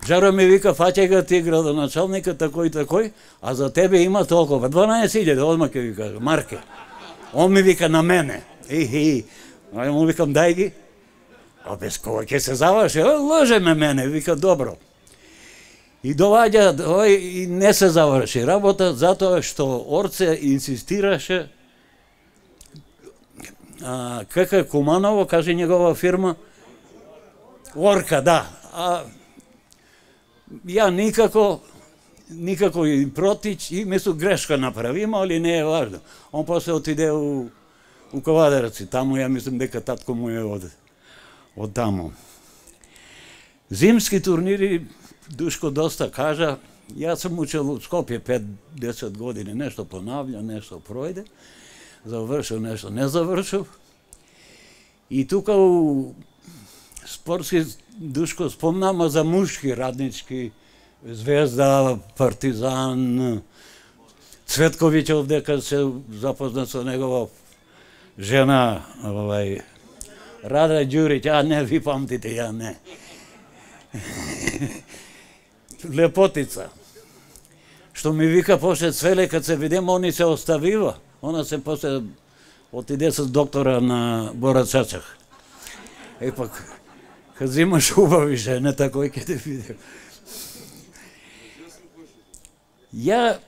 S8: Джаро ми вика, фаќај го ти градоначалникот такој такој, а за тебе има толкова, дванаесет илјаде, одма ќе ви кажа, марке. Он ми вика на мене. Ихи, а му викам, дај ги. А без кога ќе се заврши, лъже ме мене, вика, добро. И доваѓа, ој, и не се заврши работа, затоа што Орце инсистираше, а, како Куманово, каже негова фирма, Орка, да. А ја никако, никако и Протиќ, и мислу грешка направима, али не е важно. Он после отиде у, у Ковадарци, таму ја мислам дека татко му е од, од таму. Зимски турнири, Душко доста кажа, јас сум учел у Скопје пет-десет години, нешто понавља, нешто пројде, завршил, нешто не завршил. И тука у спортски Душко спомнам за мушки раднички, Звезда, Партизан, Цветковиќ дека се запознат со негова жена, овај Рада Ѓуриќ, а не ви памтите, ја не. Лепотица. Што ми вика после Цвеле, кад се видим, они се оставива. Она се после отиде с доктора на Бора Чачах. Е пак, кад зимаш убави жене, такој ке те видим. Ја,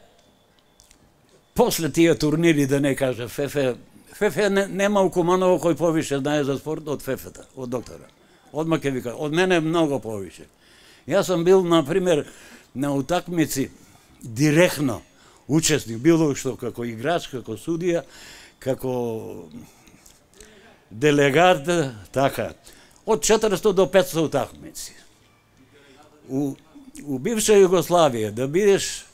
S8: после тие турнири, да не кажа, Фефе, Фефе не, нема у Куманово кој повише знае за спорт од Фефета, од доктора. Одма ке вика, од мене многу повише. Јас сам бил, например, на утакмици директно учесник, било што како играч, како судија, како делегат, така. Од четиристо до петсто утакмици. У, у бивша Југославија да бидеш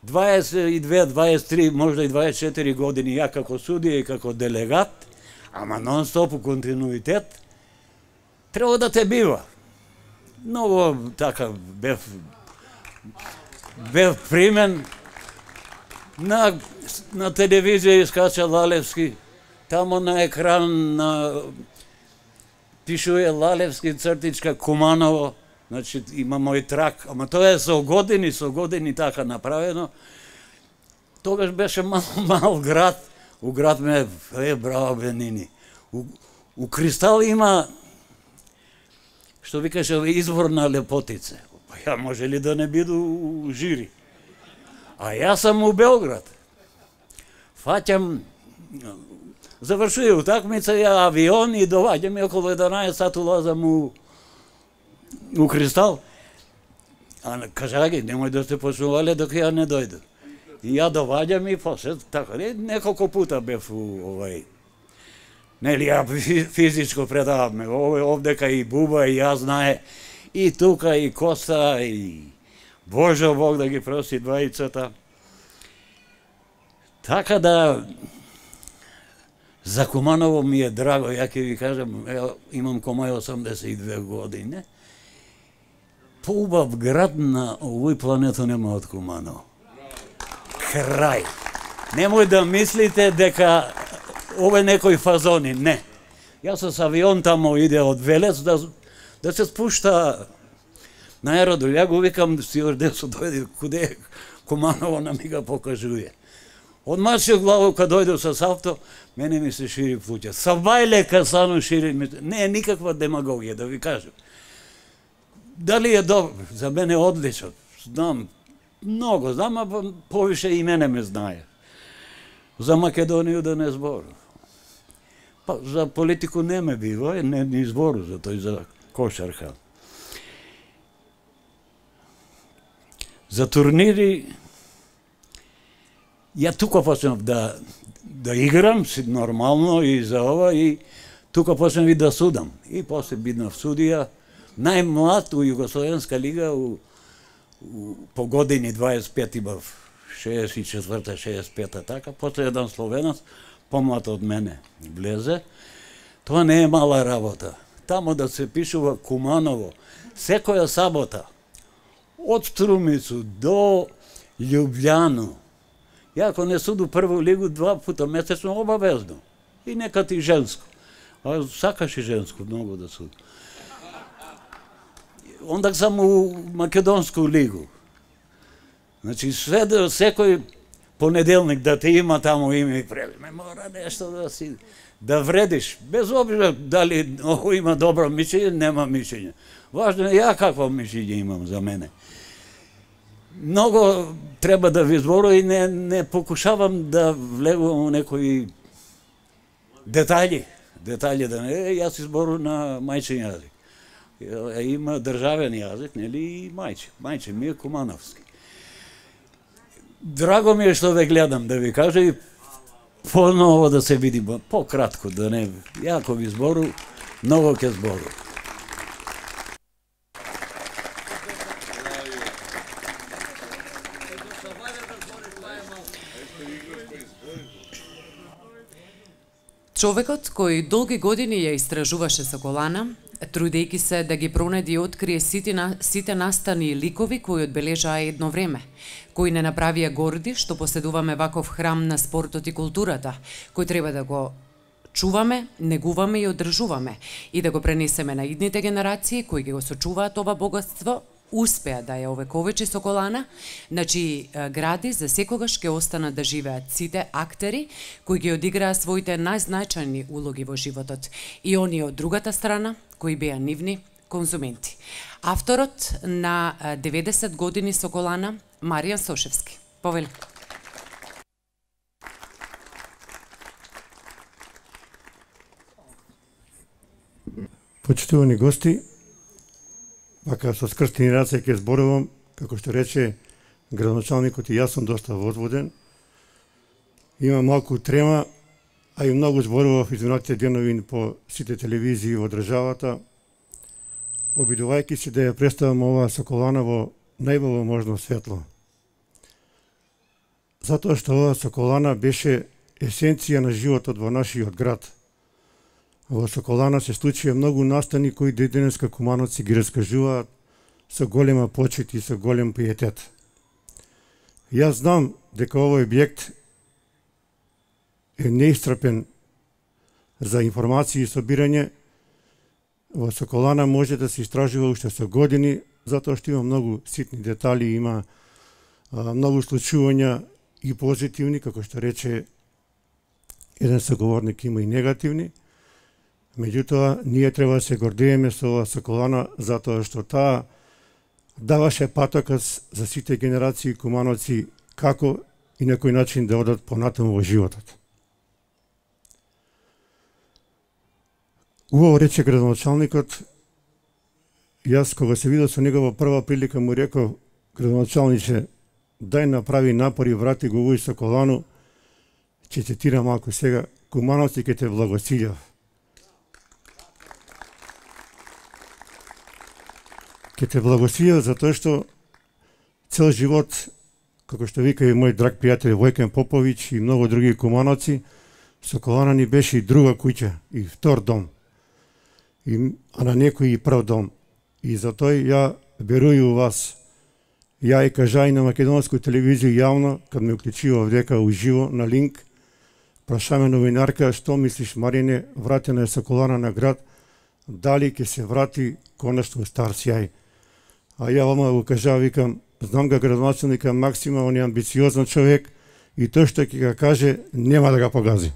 S8: дваесет и две, дваесет и три, можда и дваесет и четири години, ја како судија и како делегат, ама нон-стоп у континуитет, треба да те бива. Многу така бев бев примен на на телевизија искача Лалевски, тамо на екран на пишуе Лалевски цртичка Куманово, значи има мој трак, ама тоа е со години, со години така направено. Тогаш беше мал, мал град, у град ме е браво Бенини. У, у Кристал има, што викаше, извор на лепотице. Па ја може ли да не биду у жири? А јас сам у Белград. Фаќам, завршуе утакмица, ја авион и доваѓам и околу еднаесет сат улазам у у Кристал. А кажа ги, немој да сте почнувале док ја не дојду. И ја доваѓам и после, така, неколку пута бев у овај. Нели, ја физичко предаваме, овдека и Буба, и ја знае, и тука, и Коста, и Божо Бог да ги прости двајцата. Така да, за Куманово ми е драго, ја ќе ви кажам, имам кој осамдесет и две години. Поубав град на овој планета нема од Куманово. Крај. Немој да мислите дека ове некои фазони, не. Јас с авион тамо иде од Велес да, да се спушта на аеродром. Ја го викам стюардесо, дојде куде е Куманово, на ми ga покажуе. Одмачio главу кад дојде с авто, мене ми се шири плуќа. Сабајле касано шири ми. Не е никаква демагогија, да ви кажам. Дали е добро? За мене одлично. Знам, многу знам, а повише и мене ме знае. За Македонија да не збору. Па, за политику не ме бива, не ни збору за тој, за кошарка. За турнири, ја тука почнав да, да играм, си нормално и за ова, и тука почнав и да судам. И после биднав судија, најмлад у Југословенска лига, у, у, по години дваесет и пет имав, шеесет и четврта, шеесет и пета, така, после еден словенец, помлад од мене, влезе. Тоа не е мала работа. Тамо да се пишува Куманово, секоја сабота, од Струмицу до Љубљану. Ја ако не суду прву лигу, два пута месечно обавезно. И некад и женско. А сакаш и женско многу да суду. Ондак сам у Македонску лигу. Значи, све да, секој понеделник да те има тамо име и презиме, мора нешто да си, да вредиш, без обзира дали ово има добро мишљење, нема мишљење. Важно е ја какво мишљење имам за мене. Многу треба да ви зборувам и не, не покушавам да влегувам у некои детали, детали да не, јас изборувам на мајчин јазик. Има државен јазик, нели, и мајчин, мајчин ми е Кумановски. Драго ми е што ве гледам, да ви кажа и поново да се видим, пократко, да не, јако ви збору, многу ќе збору.
S3: Човекот кој долги години ја истражуваше Соколана, трудејќи се да ги пронеди и открие сите, на, сите настани и ликови кои одбележаа едно време, кои не направија горди што поседуваме ваков храм на спортот и културата, кој треба да го чуваме, негуваме и одржуваме и да го пренесеме на идните генерации кои ги го сочуваат ова богатство, успеа да ја овековечи Соколана, значи гради за секогаш ќе останат да живеат сите актери кои ги одиграа своите најзначајни улоги во животот и оние од другата страна кои беа нивни конзументи. Авторот на деветдесет години Соколана, Маријан Сошевски. Повели.
S9: Почитувани гости, вака со скрстени раце ќе зборувам, како што рече градоначалникот, и јас сум доста возводен. Има малку трема, а и многу зборував изминатите денови по сите телевизии во државата, обидувајќи се да ја представам оваа Соколана во најбело можно светло. Затоа што оваа Соколана беше есенција на животот во нашиот град. Во Соколана се случија многу настани кои денеска кумановци ги раскажуваат со голема почит и со голем пиетет. Јас знам дека овој објект е неистрпен за информации и собирање. Во Соколана може да се истражува уште со години, затоа што има многу ситни детали, има а, многу случувања и позитивни, како што рече еден соговорник, има и негативни. Меѓутоа, ние треба да се гордееме со оваа Соколана, затоа што таа даваше патокас за сите генерации кумановци како и на кој начин да одат понатаму во животот. Убаво рече градоначалникот, јас кога се видел со негова прва прилика му реков: градоначалниче, дај направи напори, врати го овој Соколану, ќе цитирам малку сега, кумановци ќе те благословев. Ќе те благословев затоа што цел живот, како што вика и мој драг пријател Војкен Поповиќ и многу други кумановци, Соколана ни беше и друга куќа, и втор дом, и, а на некој и прв дом. И затоа ја верую вас, ја и кажа и на македонска телевизија јавно, кад ме уклучува дека уживо на линк, прашаме новинарка: што мислиш, Марине, вратена е Соколана на град, дали ќе се врати конечно стар сјај? А ја ома го кажа, викам, знам га градоначалника Максима, он е амбициозен човек и тој што ќе га каже, нема да га погази.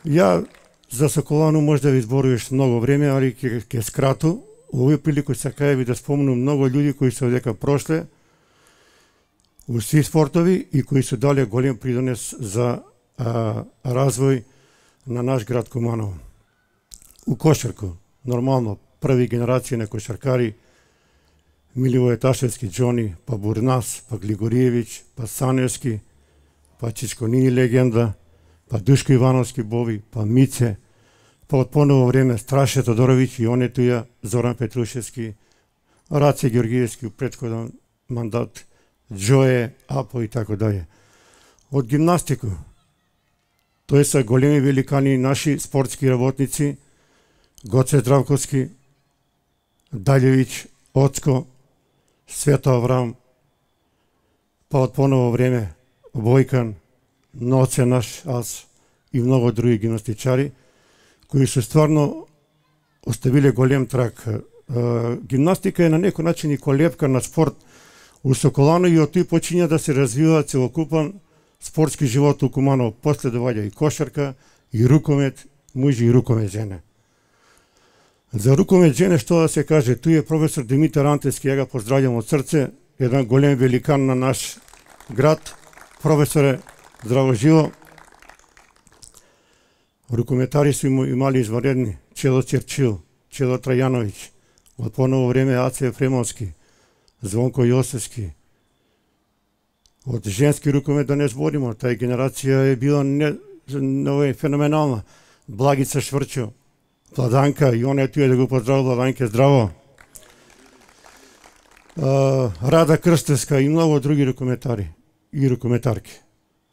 S9: Ја за Соколану може да ви зборуваш многу време, али ќе ќе скрату. Овој прилику сакаја ви да спомнам многу луѓе кои се одека прошле у сви спортови и кои се дале голем придонес за а, развој на наш град Куманово. У кошарку, нормално, први генерација на кошаркари, Миливој Ташевски, Џони, па Бурнас, па Глигориевиќ, па Саневски, па Чичконини легенда, па Душко Ивановски Бови, па Мице, па од поново време Страше Тодоровиќ и онету ја Зоран Петрушевски, Раце Георгиевски у претходен мандат, Џое, Апо и така даје. Од гимнастику, тој са големи великани наши спортски работници, Гоце Здравковски, Даљевиќ, Оцко, Свето Аврам, па од поново време Војкан, Ноце наш, аз и многу други гимнастичари, кои се стварно оставиле голем трак. Гимнастика е на некој начин и колепка на спорт у Соколано и од тој почиња да се развива целокупен спортски живот у Куманово. После доаѓа и кошарка, и рукомет, мужи и рукомет жене. За рукомет жене што да се каже, тој е професор Димитар Антески, ја га поздравljam од срце, еден голем великан на наш град. Професоре, здраво живо. Рукометари су имали изваредни: Чело Черчил, Чело Трајановиќ, од поново време Аце Ефремовски, Звонко Јосевски. Од женски рукомет да не збориме, тај генерација е била не, не, феноменална. Благица Шврчо, Владанка, и он е туе да го поздрави, Владанке, здраво. Uh, Рада Крстевска и многу други рукометари и рукометарки.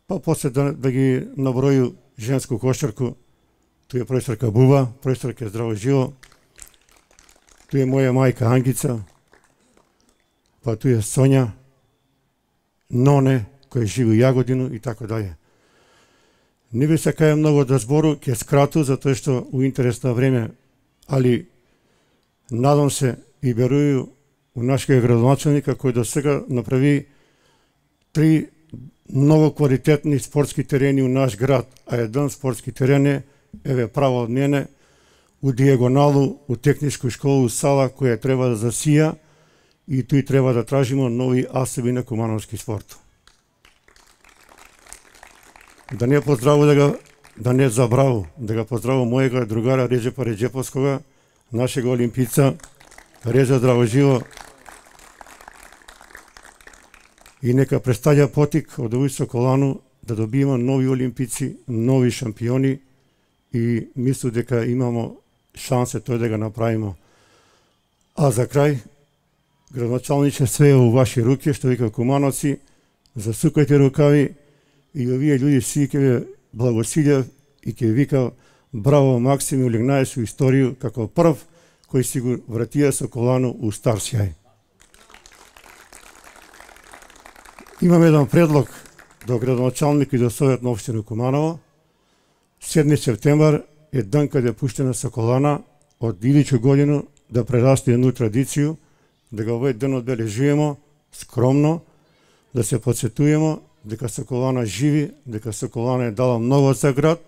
S9: Па после да, да ги наброju женску кошарку, Тој е професорка Бува, професорка Здраво Живо, тој е моја мајка Ангица, па тој е Сонја, Ноне, кој живи у Јагодину и така дале. Не би сакаја многу да збору, ќе скрату, затоа што у интерес на време, али надам се и верую у нашиот градоначалника кој до сега направи три многу квалитетни спортски терени у наш град, а еден спортски терен е, еве право од мене, у дијагоналу, у техничка школа, у сала која треба да засија и тој треба да тражимо нови асоби на кумановски спорт. Да не поздраву да ga, да не забраву, да ga поздраву мојега другара Реджепа Реджеповскога, нашега олимпица, Реджа здраво живо, и нека представја потик од овој Соколану да добиеме нови олимпици, нови шампиони и мислу дека имамо шансе тој да го направиме. А за крај, градоначалниче, све е у ваши руки, што вика кумановци, засукајте рукави и овие луѓе си ќе ве благосилјав и ќе вика браво Максим, улегнае со исторiju како прв кој си го вратија Соколану у стар сјај. Имам еден предлог до градоначалник и до Совет на општина Куманово. седми септемвар е ден каде е пуштена Соколана од идичу годину да прерасте едну традицiju, да го овој ден одбележуваме скромно, да се подсетуваме дека Соколана живи, дека Соколана е дала многу за град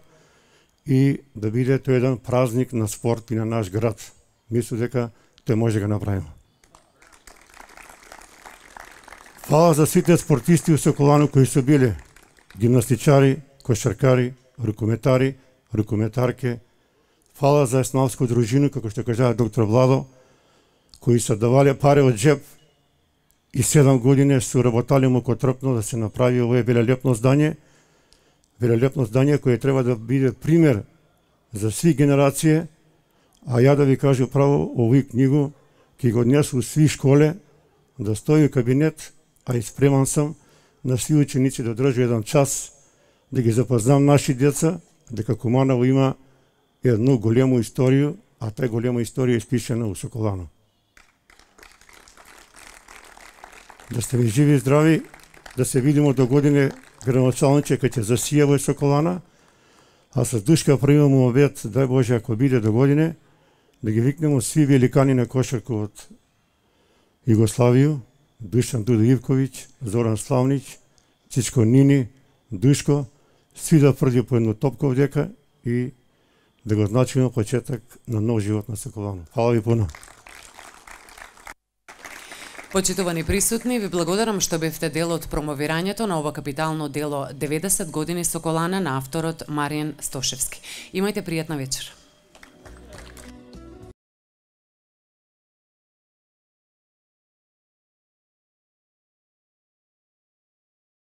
S9: и да биде тој еден празник на спорт и на наш град. Мислам дека тој може да го направиме. Фала за сите спортисти у Соколану кои се биле гимнастичари, кошаркари, рукометари, рукометарке. Фала за еснавско дружину, како што кажа доктор Владо, кои се давале пари од джеб и седам години се работали мукотрпно да се направи овое велелепно здание, велелепно здание кое треба да биде пример за сви генерации, а ја да ви кажу право, овој книгу ќе го однесу сви школе, да стои у кабинет, а и спреман сам на сви ученици да држу еден час, да ги запознам наши деца, дека Куманово има едну голему исторiju, а таа голема историја е испишена у Соколану. Да сте ви живи и здрави, да се видимо до године градоначалниче кај ќе засија во Соколана, а со душка правиме обет, дај Боже, ако биде до године, да ги викнемо сви великани на кошарка од Југославија, Дуšan Dudo Ivković, Zoran Slavnić, Цичко Нини, Душко, сви да прди по едно топка овдека и да го значиме почеток на нов живот на Соколану. Фала ви пуно.
S3: Почитувани присутни, ви благодарам што бевте дел од промовирањето на ова капитално дело деветдесет години Соколана на авторот Маријан Стошевски. Имајте пријатна вечер.